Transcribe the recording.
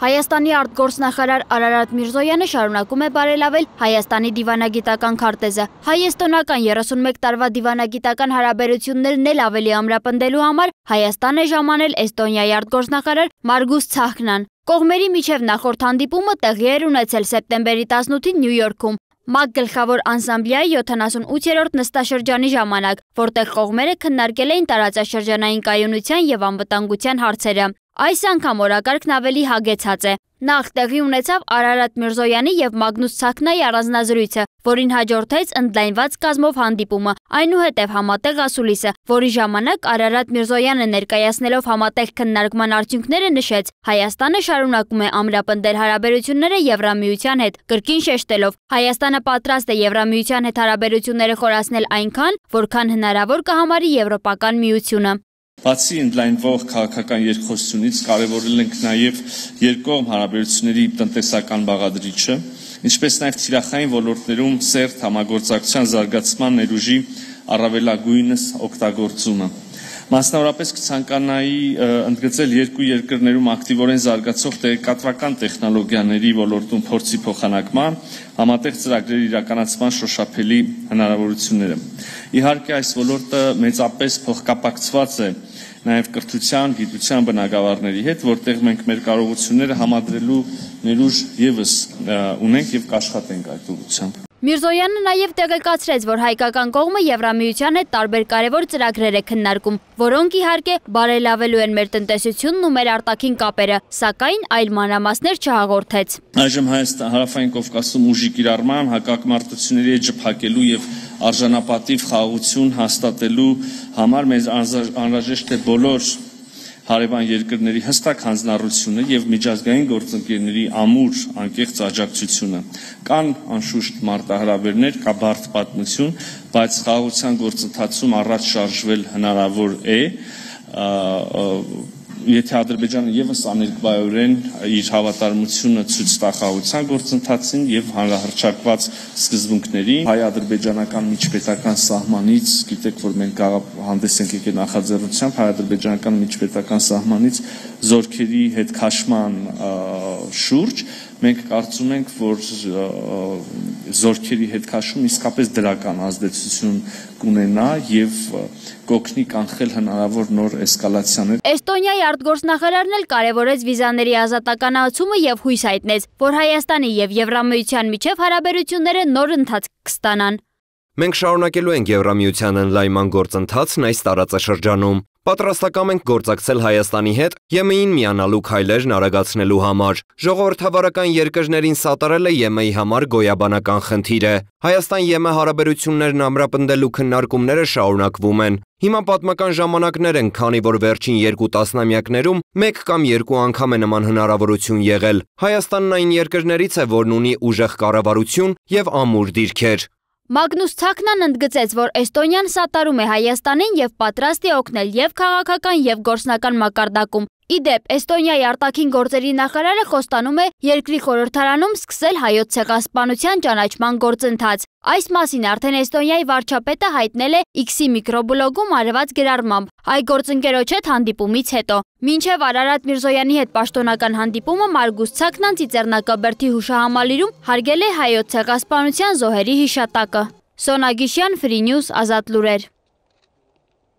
Հայաստանի արտգործնախարար Արարատ Միրզոյանը շարունակում է բարելավել Հայաստանի դիվանագիտական քարտեզը։ Հայ-էստոնական 31 տարվա դիվանագիտական հարաբերություններն էլ ավելի ամրապնդելու համար Հայաստան է ժամանել Էստոնիայի արտգործնախարար Մարգուս Ցահքնան։ Կողմերի միջև նախորդ հանդիպումը տեղի էր ունեցել սեպտեմբերի 18-ին Նյու Յորքում ՄԱԿ գլխավոր անսամբլեայի 78-րդ նստաշրջանի ժամանակ, որտեղ կողմերը քննարկել էին տարածաշրջանային կայունության և անվտանգության հարցերը։ Այս անգամ օրակարգն ավելի հագեցած է։ Նախ տեղի ունեցավ Արարատ Միրզոյանի և Մագնուս Ցահքնայի առանձնազրույցը, որին հաջորդեց ընդլայնված կազմով հանդիպումը, այնուհետև համատեղ ասուլիսը, որի ժամանակ Արարատ Միրզոյանը ներկայացնելով համատեղ քննարկման արդյունքները նշեց. Հայաստանը շարունակում է ամրապնդել հարաբերությունները Եվրամիության հետ, կրկին շեշտելով. Հայաստանը պատրաստ է Եվրամիության հետ հարաբերությունները խորացնել այնքան, որքան հնարավոր կհամարի Եվրոպական միությունը։ Բացի ընդլայնվող քաղաքական երկխոսությունից կարևորել ենք նաև երկկողմ հարաբերությունների տնտեսական բաղադրիչը, ինչպես նաև թիրախային ոլորտներում սերտ համագործակցության զարգացման ներուժի առավելագույնս օգտագործումը։ Մասնավորապես կցանկանայի ընդգծել երկու երկրներում ակտիվորեն զարգացող տեղեկատվական տեխնոլոգիաների ոլորտում փորձի փոխանակման, համատեղ ծրագրերի իրականացման շոշափելի հնարավորությունները։ Իհարկե այս ոլորտը մեծապես փոխկապակցված է նաև կրթության, գիտության բնագավառների հետ, որտեղ մենք մեր կարողությունները համադրելու ներուժ ևս ունենք և կաշխատենք այդ ուղղությամբ։ Միրզոյանը նաև տեղեկացրեց, որ հայկական կողմը Եվրամիության հետ տարբեր կարևոր ծրագրեր է քննարկում, որոնք իհարկե բարելավելու են մեր տնտեսությունն ու մեր արտաքին կապերը, սակայն այլ մանրամասներ չհաղորդեց։ Այժմ Հարավային Կովկասում ուժի կիրառման, հակամարտությունների էջը փակելու և արժանապատիվ խաղաղություն հաստատելու համար մեզ անհրաժեշտ է բոլոր հարևան երկրների հստակ հանձնառությունը և միջազգային գործընկերների ամուր անկեղծ աջակցությունը։ Կան անշուշտ մարտահրավերներ, կա բարդ պատմություն, բայց խաղաղության գործընթացում առաջ շարժվել հնարավոր է, եթե Ադրբեջանը ևս աներկբայորեն իր հավատարմությունը ցույց տա խաղաղության գործընթացին և հանրահռչակված սկզբունքներին, հայ-ադրբեջանական միջպետական սահմանից, գիտեք, որ մենք հանդես ենք եկել նախաձեռնությամբ հայ-ադրբեջանական միջպետական սահմանից զորքերի հետ քաշման շուրջ, մենք կարծում ենք, որ զորքերի հետ քաշում իսկապես դրական ազդեցություն կունենա և կօգնի կանխել հնարավոր նոր էսկալացիաներ։ Էստոնիայի արտգործնախարարն էլ կարևորեց վիզաների ազատականացումը և հույս հայտնեց, որ Հայաստանի և Եվրամիության միջև հարաբերությունները նոր ընթացք կստանան։ Մենք շարունակելու ենք Եվրամիության ընդլայնման գործընթացն այս տարածաշրջանում։ Պատրաստակամ ենք գործակցել Հայաստանի հետ ԵՄ-ին միանալու քայլերն արագացնելու համար։ Ժողովրդավարական երկրներին սատարելը ԵՄ-ի համար գոյաբանական խնդիր է։ Հայաստան-ԵՄ հարաբերություններն ամրապնդելու քննարկումները շարունակվում են։ Հիմա պատմական ժամանակներ են, քանի որ վերջին 2 տասնամյակներում 1 կամ 2 անգամ է նման հնարավորություն եղել։ Հայաստանն այն երկրներից է, որն ունի ուժեղ կառավարություն և ամուր դիրքեր։ Մագնուս Ցահքնան ընդգծեց, որ Էստոնիան սատարում է Հայաստանին և պատրաստ է օգնել և քաղաքական և գործնական մակարդակում։ Ի դեպ, Էստոնիայի արտաքին գործերի նախարարը խոստանում է երկրի խորհրդարանում սկսել հայոց ցեղասպանության ճանաչման գործընթաց։ Այս մասին արդեն Էստոնիայի վարչապետը հայտնել է X-ի միկրոբլոգում արված գրառմամբ, այ գործընկերոջ հետ հանդիպումից հետո։ Մինչև Արարատ Միրզոյանի հետ պաշտոնական հանդիպումը Մարգուս Ցահքնան Ծիծեռնակաբերդի հուշահամալիրում հարգել է հայոց ցեղասպանության զոհերի հիշատակը։ Սոնա Գիշյան, Free News, Ազատ լուրեր։